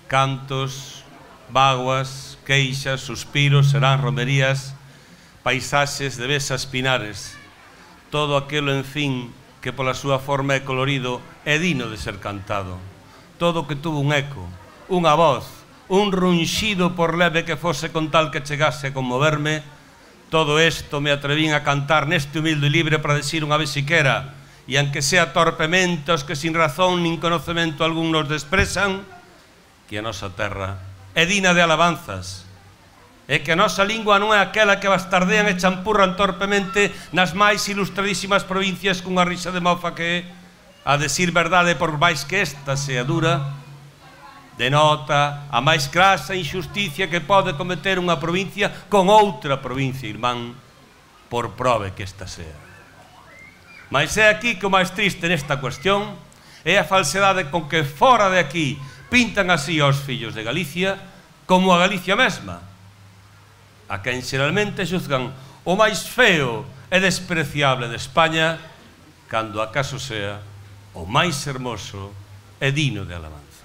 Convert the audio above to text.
cantos, vaguas, queixas, suspiros, serán romerías, paisaxes de besas pinares, todo aquilo, en fin, que pola súa forma e colorido é digno de ser cantado. Todo que tuvo un eco, unha voz, un runxido por leve que fose con tal que chegase a conmoverme, todo isto me atrevín a cantar neste humilde libre para decir unha vez siquera, e aunque sea torpemente os que sin razón nin conocemento algún nos despresan, que a nosa terra é digna de alabanzas, e que a nosa lingua non é aquela que bastardean e champurran torpemente nas máis ilustradísimas provincias cunha risa de mofa que, a decir verdade, por máis que esta sea dura, denota a máis grasa injusticia que pode cometer unha provincia con outra provincia irmán, por prove que esta sea. Mas é aquí que o máis triste nesta cuestión é a falsedade con que fora de aquí pintan así aos fillos de Galicia como a Galicia mesma, a quen xeralmente xuzgan o máis feo e despreciable de España, cando acaso sea o máis hermoso e digno de alabanza.